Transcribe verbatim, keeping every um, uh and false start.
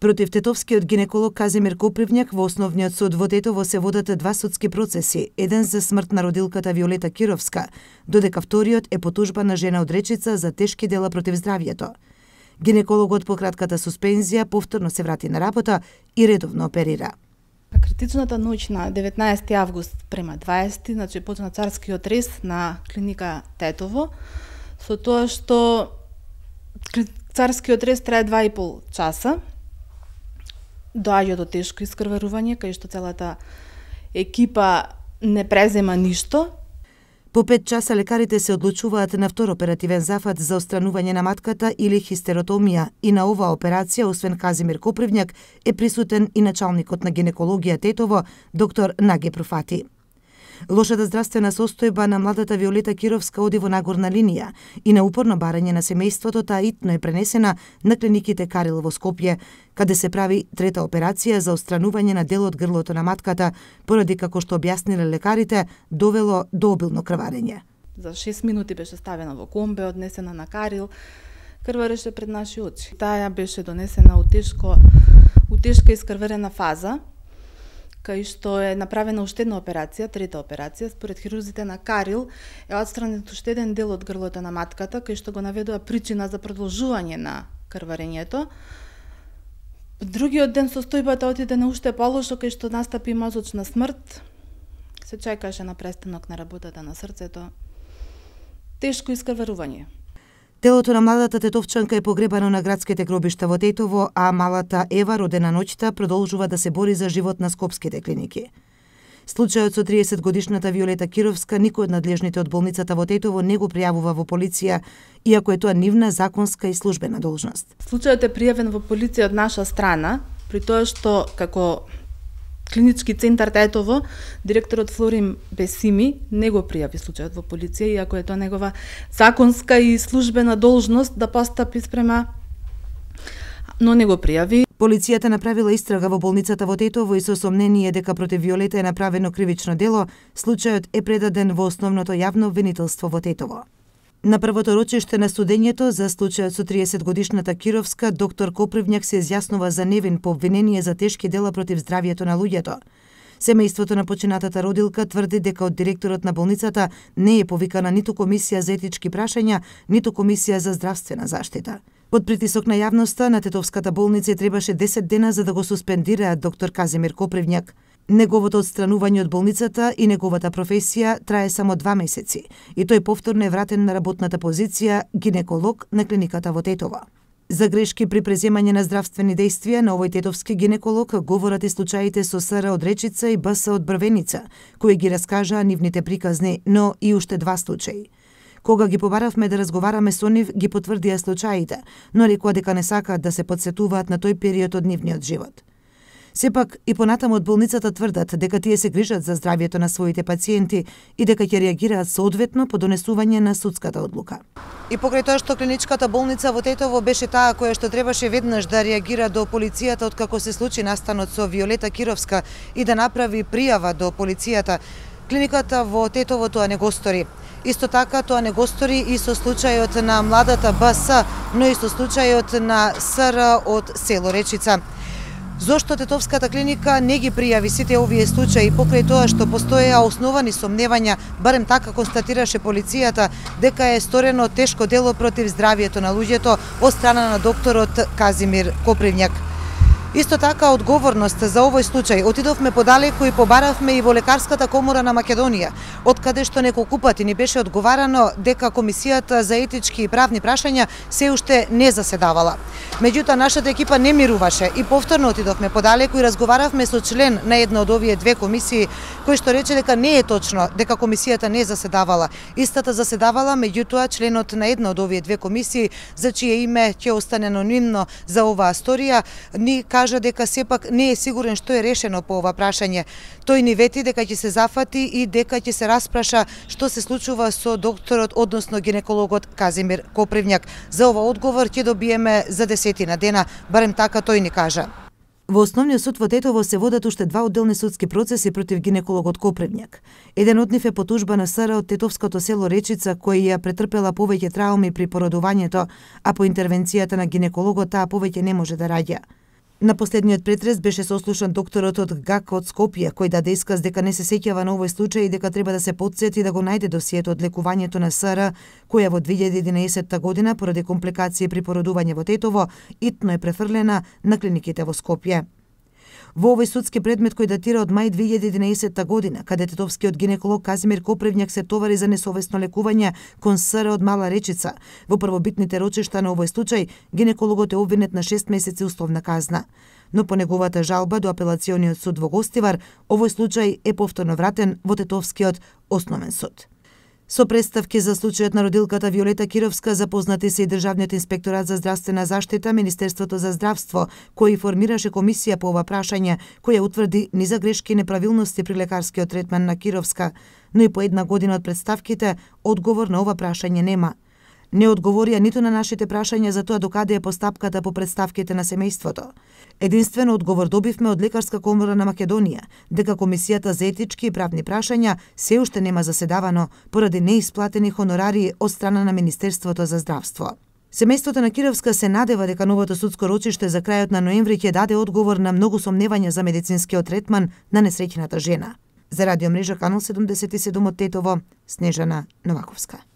Против тетовскиот гинеколог Казимир Копривњак во Основниот суд во Тетово се водат два судски процеси, еден за смрт на родилката Виолета Кировска, додека вториот е по тужба на жена од Речица за тешки дела против здравјето. Гинекологот по кратката суспензија повторно се врати на работа и редовно оперира. Критичната ноќ на деветнаесети август према дваесети, значи почна царскиот рез на клиника Тетово, со тоа што царскиот рез трае два и пол часа, доаѓа до тешко искрварување, кај што целата екипа не презема ништо. По пет часа лекарите се одлучуваат на втор оперативен зафат за отстранување на матката или хистеротомија и на оваа операција, освен Казимир Копривњак, е присутен и началникот на гинекологија Тетово, доктор Наги Профати. Лошата здравствена состојба на младата Виолета Кировска оди во нагорна линија и на упорно барање на семејството таа итно е пренесена на клиниките Карил во Скопје, каде се прави трета операција за отстранување на дел од грлото на матката, поради како што објасниле лекарите, довело до обилно крварење. За шест минути беше ставена во комбе, однесена на Карил, крвареше пред наши очи. Таа беше донесена у тешко, у тешка искрварена фаза, кај што е направена уште една операција, трета операција, според хирурзите на Карил е отстранет уште еден дел од грлото на матката, кај што го наведува причина за продолжување на крварењето. Другиот ден состојбата отиде на уште полошо, кај што настапи мозочна смрт. Се чекаше на престанок на работата на срцето. Тешко искрварување. Телото на младата тетовчанка е погребано на градските гробишта во Тетово, а малата Ева, родена ноќта, продолжува да се бори за живот на скопските клиники. Случајот со триесетгодишната Виолета Кировска никој од надлежните од болницата во Тетово не го пријавува во полиција, иако е тоа нивна законска и службена должност. Случајот е пријавен во полиција од наша страна, при тоа што како Клинички центар Тетово, директорот Флорин Бесими не го пријави случајот во полиција, иако е тоа негова законска и службена должност да постапи спрема, но не го пријави. Полицијата направила истрага во болницата во Тетово и со сомнение дека против Виолета е направено кривично дело, случајот е предаден во основното јавно обвинителство во Тетово. На првото рочиште на судењето за случајот со триесетгодишната Кировска, доктор Копривњак се изјаснува за невин по обвинение за тешки дела против здравјето на луѓето. Семејството на починатата родилка тврди дека од директорот на болницата не е повикана ниту комисија за етички прашања, ниту комисија за здравствена заштита. Под притисок на јавноста, на Тетовската болница требаше десет дена за да го суспендираат доктор Казимир Копривњак. Неговото отстранување од болницата и неговата професија трае само два месеци и тој повторно е вратен на работната позиција гинеколог на клиниката во Тетово. За грешки при преземање на здравствени действија на овој тетовски гинеколог говорат и случаите со СР од Речица и БС од Брвеница, кои ги раскажаа нивните приказни, но и уште два случаи. Кога ги побаравме да разговараме со нив, ги потврдија случаите, но рекоа дека не сакаат да се подсетуваат на тој период од нивниот живот. Сепак и понатаму од болницата тврдат дека тие се грижат за здравјето на своите пациенти и дека ќе реагираат соодветно по донесување на судската одлука. И покрај тоа што клиничката болница во Тетово беше таа која што требаше веднаш да реагира до полицијата откако се случи настанот со Виолета Кировска и да направи пријава до полицијата, клиниката во Тетово тоа не го стори. Исто така тоа не го стори и со случајот на младата БС, но и со случајот на СР од село Речица. Зошто Тетовската клиника не ги пријави сите овие случаи покрај тоа што постоеа основани сомневања, барем така констатираше полицијата, дека е сторено тешко дело против здравјето на луѓето од страна на докторот Казимир Копривњак. Исто така, одговорност за овој случај отидовме подалеку и побаравме и во Лекарската комора на Македонија, од каде што неколку пати ни беше одговарано дека Комисијата за етички и правни прашања се уште не заседавала. Меѓутоа, нашата екипа не мируваше и повторно отидовме подалеку и разговаравме со член на една од овие две комисии, кој што рече дека не е точно дека Комисијата не заседавала. Истата заседавала, меѓутоа членот на една од овие две комисии, за чие име ќе остане анонимно за оваа сторија, ни кажа дека сепак не е сигурен што е решено по ова прашање. Тој ни вети дека ќе се зафати и дека ќе се распраша што се случува со докторот, односно гинекологот Казимир Копривњак. За ова одговор ќе добиеме за десетина дена, барем така тој ни кажа. Во Основниот суд во Тетово се водат уште два одделни судски процеси против гинекологот Копривњак. Еден од нив е по тужба на СР од тетовското село Речица, кој ја претрпела повеќе трауми при породувањето, а по интервенцијата на гинекологот таа повеќе не може да раѓа. На последниот претрес беше сослушан докторот од ГАК од Скопје, кој даде исказ дека не се сеќава на овој случај и дека треба да се потсети да го најде досието од лекувањето на СР, која во две илјади и единаесетта година поради компликации при породување во Тетово итно е префрлена на клиниките во Скопје. Во овој судски предмет кој датира од мај две илјади и единаесетта година, каде тетовскиот гинеколог Казимир Копревњак се товари за несовесно лекување кон СР од Мала Речица, во првобитните рочишта на овој случај гинекологот е обвинет на шест месеци условна казна. Но по неговата жалба до апелациониот суд во Гостивар, овој случај е повторно вратен во Тетовскиот основен суд. Со представки за случајот на родилката Виолета Кировска запознати се и Државниот инспекторат за здравствена заштита, Министерството за здравство, кој формираше комисија по ова прашање, која утврди низа грешки и неправилности при лекарскиот третман на Кировска, но и по една година од представките, одговор на ова прашање нема. Не одговорија ниту на нашите прашања за тоа докаде е постапката по представките на семејството. Единствено одговор добивме од Лекарска комора на Македонија, дека Комисијата за етички и правни прашања се уште нема заседавано поради неисплатени хонорари од страна на Министерството за здравство. Семејството на Кировска се надева дека новото судско рочиште за крајот на ноември ќе даде одговор на многу сомневања за медицинскиот третман на несреќената жена. За радиомрежа Канал седумдесет и седум од Тетово, Снежана Новаковска.